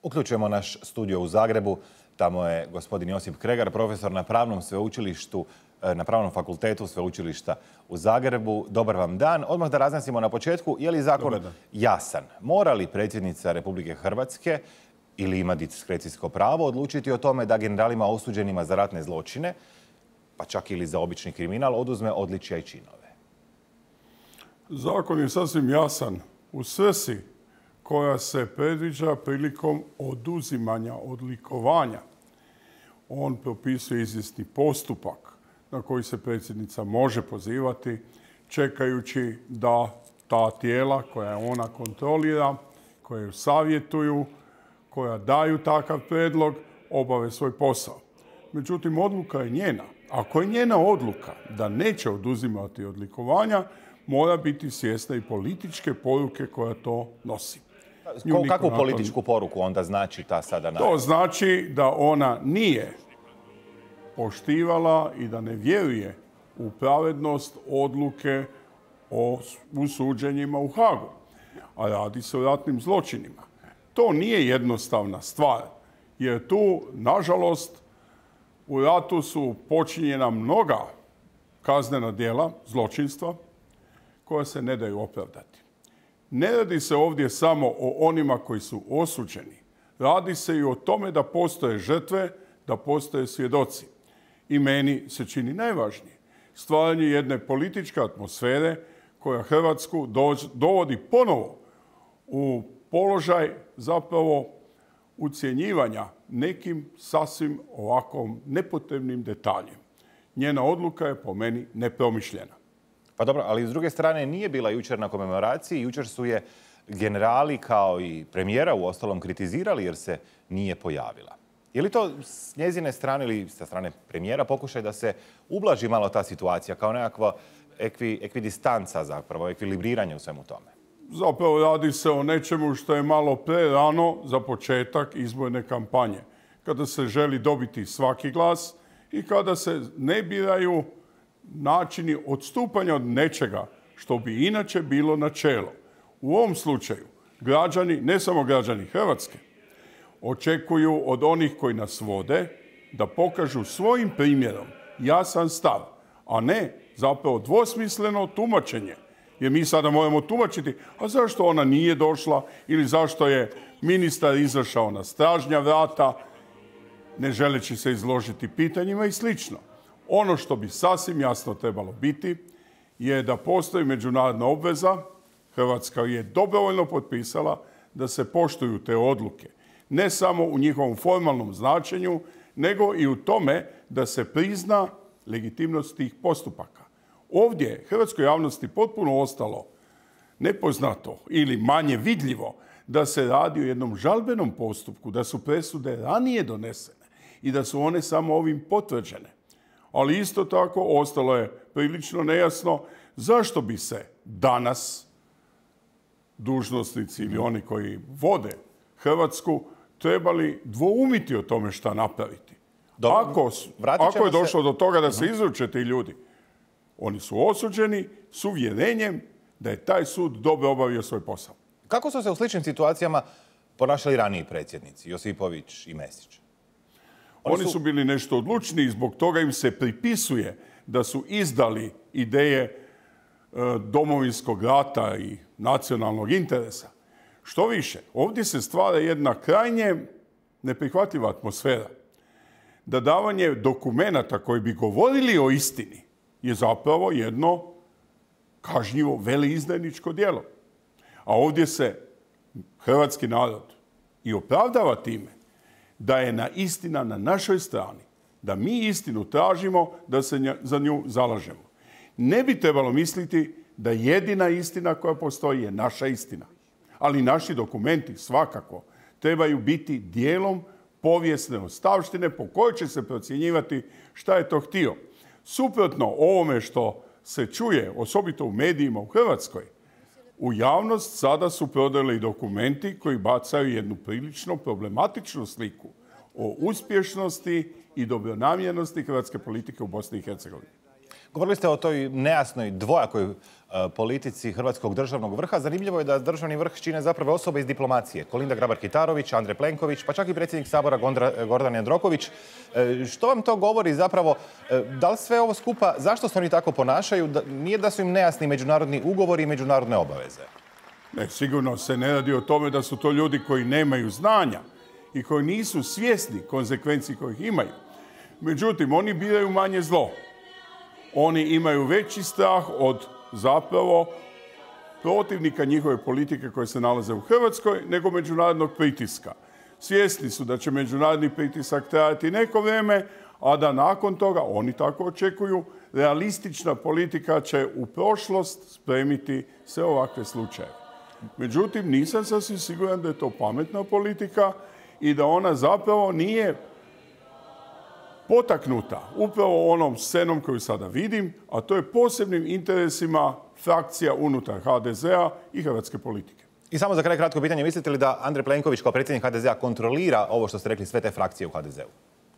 Uključujemo naš studio u Zagrebu. Tamo je gospodin Josip Kregar, profesor na Pravnom sveučilištu, na Pravnom fakultetu Sveučilišta u Zagrebu. Dobar vam dan. Odmah da razjasnimo na početku, je li zakon jasan? Mora li predsjednica Republike Hrvatske ili ima diskrecijsko pravo odlučiti o tome da generalima osuđenima za ratne zločine, pa čak ili za obični kriminal, oduzme odličja i činove? Zakon je sasvim jasan u svrsi koja se predviđa prilikom oduzimanja odlikovanja. On propisuje izvjesni postupak na koji se predsjednica može pozivati, čekajući da ta tijela koja ona kontrolira, koje ju savjetuju, koja daju takav predlog, obave svoj posao. Međutim, odluka je njena. Ako je njena odluka da neće oduzimati odlikovanja, mora biti svjesna i političke poruke koja to nosi. Kakvu političku poruku onda znači ta sada najava? To znači da ona nije poštivala i da ne vjeruje u pravednost odluke u suđenjima u Hagu. A radi se o ratnim zločinima. To nije jednostavna stvar, jer tu, nažalost, u ratu su počinjena mnoga kaznena djela, zločinstva, koja se ne daju opravdati. Ne radi se ovdje samo o onima koji su osuđeni. Radi se i o tome da postoje žrtve, da postoje svjedoci. I meni se čini najvažnije stvaranje jedne političke atmosfere koja Hrvatsku dovodi ponovo u položaj zapravo ucjenjivanja nekim sasvim ovakvom nepotrebnim detaljem. Njena odluka je po meni nepromišljena. Pa dobro, ali s druge strane nije bila jučer na komemoraciji. Jučer su je generali kao i premijera u ostalom kritizirali jer se nije pojavila. Je li to s njezine strane ili sa strane premijera pokušaj da se ublaži malo ta situacija kao nekakva ekvidistanca zapravo, ekvilibriranje u svemu tome? Zapravo radi se o nečemu što je malo prerano za početak izborne kampanje. Kada se želi dobiti svaki glas i kada se ne biraju načini odstupanja od nečega što bi inače bilo načelo. U ovom slučaju građani, ne samo građani Hrvatske, očekuju od onih koji nas vode da pokažu svojim primjerom jasan stav, a ne zapravo dvosmisleno tumačenje. Jer mi sada moramo tumačiti, a zašto ona nije došla ili zašto je ministar izašao na stražnja vrata, ne želeći se izložiti pitanjima i slično. Ono što bi sasvim jasno trebalo biti je da postoji međunarodna obveza, Hrvatska je dobrovoljno potpisala da se poštuju te odluke. Ne samo u njihovom formalnom značenju, nego i u tome da se prizna legitimnost tih postupaka. Ovdje je hrvatskoj javnosti potpuno ostalo nepoznato ili manje vidljivo da se radi o jednom žalbenom postupku, da su presude ranije donesene i da su one samo ovim potvrđene. Ali isto tako ostalo je prilično nejasno zašto bi se danas dužnosnici ili oni koji vode Hrvatsku trebali dvoumiti o tome šta napraviti. Ako je došlo do toga da se izruče ti ljudi, oni su osuđeni s uvjerenjem da je taj sud dobro obavio svoj posao. Kako su se u sličnim situacijama ponašali raniji predsjednici, Josipović i Mesić? Oni su bili nešto odlučniji, zbog toga im se pripisuje da su izdali ideje domovinskog rata i nacionalnog interesa. Što više, ovdje se stvara jedna krajnje neprihvatljiva atmosfera. Da davanje dokumenata koji bi govorili o istini je zapravo jedno kažnjivo veleizdajničko djelo. A ovdje se hrvatski narod i opravdava time da je istina na našoj strani, da mi istinu tražimo, da se za nju zalažemo. Ne bi trebalo misliti da jedina istina koja postoji je naša istina. Ali naši dokumenti svakako trebaju biti dijelom povijesne ostavštine po kojoj će se procjenjivati šta je to htio. Suprotno ovome što se čuje, osobito u medijima u Hrvatskoj, u javnost sada su prodali dokumenti koji bacaju jednu prilično problematičnu sliku o uspješnosti i dobronamjernosti hrvatske politike u Bosni i Hercegovini. Govorili ste o toj nejasnoj, dvojakoj politici hrvatskog državnog vrha. Zanimljivo je da državni vrh čine zapravo osobe iz diplomacije. Kolinda Grabar-Kitarović, Andrej Plenković, pa čak i predsjednik Sabora Gordan Jandroković. Što vam to govori zapravo? Da li sve ovo skupa, zašto se oni tako ponašaju? Nije da su im nejasni međunarodni ugovori i međunarodne obaveze? Ne, sigurno se ne radi o tome da su to ljudi koji nemaju znanja i koji nisu svjesni konsekvenci kojih imaju. Međutim, oni biraju manje zlo. Oni imaju veći strah od zapravo protivnika njihove politike koje se nalaze u Hrvatskoj nego međunarodnog pritiska. Svjesni su da će međunarodni pritisak trajati neko vrijeme, a da nakon toga, oni tako očekuju, realistična politika će u prošlost spremiti sve ovakve slučaje. Međutim, nisam sasvim siguran da je to pametna politika i da ona zapravo nije potaknuta upravo onom scenom koju sada vidim, a to je posebnim interesima frakcija unutar HDZ-a i hrvatske politike. I samo za kraj kratko pitanje, mislite li da Andrej Plenković kao predsjednik HDZ-a kontrolira ovo što ste rekli, sve te frakcije u HDZ-u?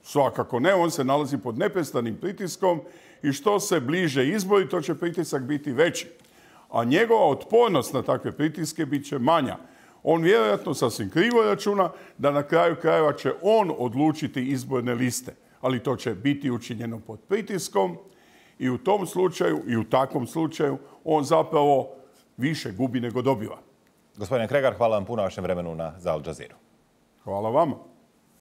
Svakako ne, on se nalazi pod neprestanim pritiskom i što se bliže izbori, to će pritisak biti veći. A njegova otpornost na takve pritiske bit će manja. On vjerojatno sasvim krivo računa da na kraju krajeva će on odlučiti izborne liste. Ali to će biti učinjeno pod pritiskom i u tom slučaju i u takvom slučaju on zapravo više gubi nego dobiva. Gospodine Kregar, hvala vam puno na vašem vremenu za Al Jazeera. Hvala vama.